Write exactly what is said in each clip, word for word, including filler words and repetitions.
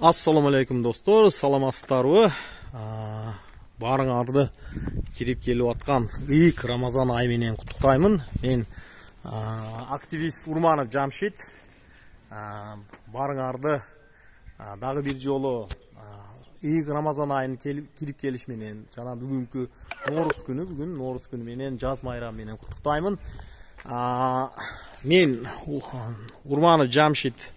Ассаламу алейкум достор, саламатсыздарбы? Барыңарды кирип келип аткан ыйык Рамазан айы менен куттуктаймын. Мен активист Урманов Жамшит. Барыңарды дагы бир жолу ыйык Рамазан айын кирип келиш менен жана бүгүнкү Нооруз күнү, бүгүн Нооруз күнү менен, жаз майрамы менен куттуктаймын. Мен Урманов Жамшит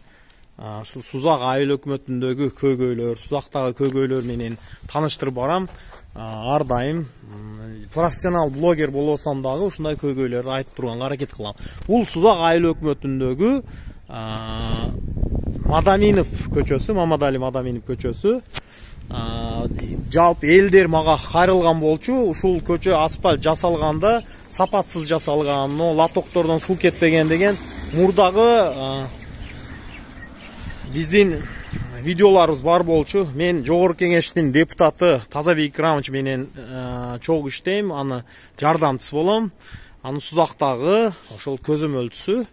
Сузак айыл өкмөтүндөгү көйгөйлөр, Сузактагы көйгөйлөр менен тааныштырып барам. Ар дайым профессионал блогер болсом дагы ушундай көйгөйлөрдү айтып турганга аракет кылам. Бул Сузак айыл өкмөтүндөгү Мадаминов көчөсү, Мамадали Мадаминов көчөсү. Жалпы элдер мага кайрылган болчу. Ушул көчө асфальт жасалганда сапатсыз жасалган, латоктордон суу кетпеген деген мурдагы биздин видеоларыбыз бар болчу. Мен жогорку кеңештин депутаты Тазабек Икрамович менен чогуу иштейм, аны жардамчысы болом. Аны Сузактагы ошол көзөмөлчүсү.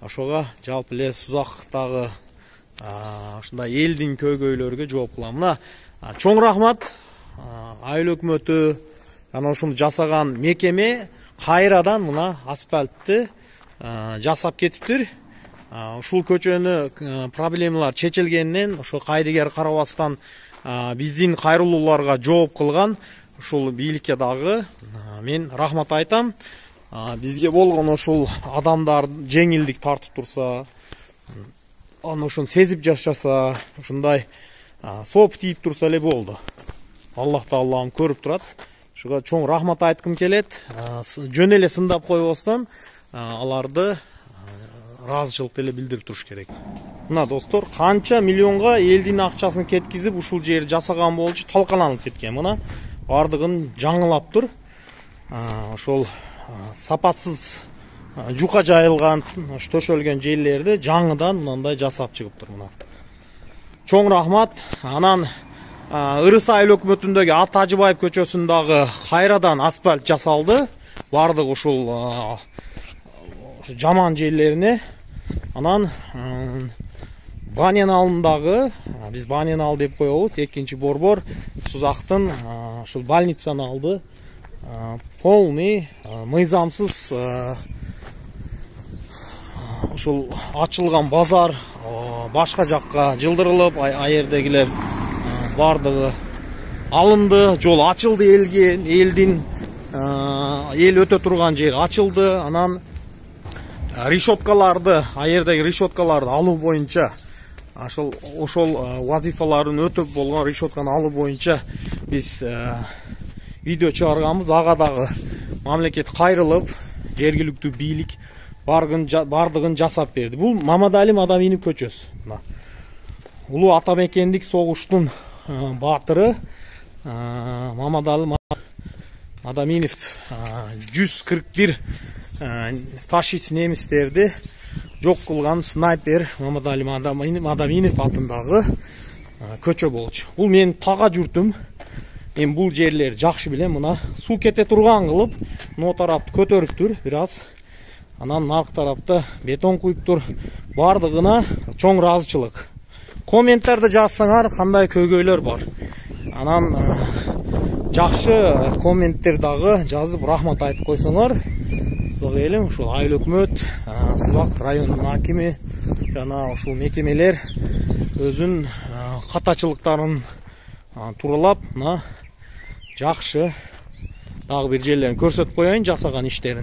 Ошого жалпы эле Сузактагы ушундай элдин көйгөйлөрүгө жооп кылам. Мына чоң рахмат айыл өкмөтү жана ушуну жасаган мекеме кайрадан мына асфальтты жасап кетиптир. Ушул көчөнү проблемалар чечилгенинен ошо кайдыгер карабастан биздин кайрылууларга жооп кылган ушул бийликке дагы мен рахмат айтам. Бизге болгон ушул адамдар жеңилдик тартып турса, аны ошону сезип жашаса, ушундай соп тийип турса эле болду. Аллах Таалам көрүп турат. Ошого чоң рахмат айткым келет. Жөн эле сындап койбостон аларды ыраазычылык деле билдирип туруш керек. Мына достор, канча миллионга элдин акчасын кеткизип ушул жерди жасаган болчу, талкаланып кеткен. Мына бардыгын жаңылап тур. Ошол сапатсыз жука жайылган, төшөлгөн жерлерди жаңыдан мындай жасап чыгып тур. Мына чоң рахмат. Анан Ырыс айыл өкмөтүндөгү Ат Ажыбаев көчөсүндөгү кайрадан асфальт жасалды. Бардык ушул жаман жерлерине. Анан Банян алындагы, биз Банян ал деп коебуз, экинчи борбор Сузактын ушул больницаны алды. Полный мыйзамсыз ушул ачылган базар башка жакка жылдырылып, аердегилер бардыгы алынды, жол ачылды элге, элдин эл өтө турган жер ачылды. Анан решеткаларды, аердеги решеткаларды алуу боюнча, ошол ошол вазифаларын өтөп болгон решетканы алуу боюнча биз видео чыгарганбыз. Ага дагы мамлекет кайрылып, жергиликтүү бийлик бардыгын жасап берди. Бул Мамадали Мадаминов көчөсү. Улуу ата мекендик согуштун баатыры Мамадали Мадаминов жүз кырк бир фашист немистерди жок кылган снайпер Мамадали Мадаминов атындагы көчө болчу. Бул менин тага журтум. Мен бул жерлерди жакшы билем. Мына суу кете турган кылып, но тарапты көтөрүптүр бир аз. Анан наркы тарапта бетон куюптур. Бардыгына чоң ыраазычылык. Комменттарда жазсаңар кандай көйгөйлөр бар. Анан жакшы комменттер дагы жазып рахмат айтып койсоңор, Сузак элим, ушул айыл өкмөт, Сузак районунун акими жана ушул мекемелер өзүн катачылыктарын туралап, мына жакшы дагы бир жерлерин көрсөтүп коеюн жасаган иштерин.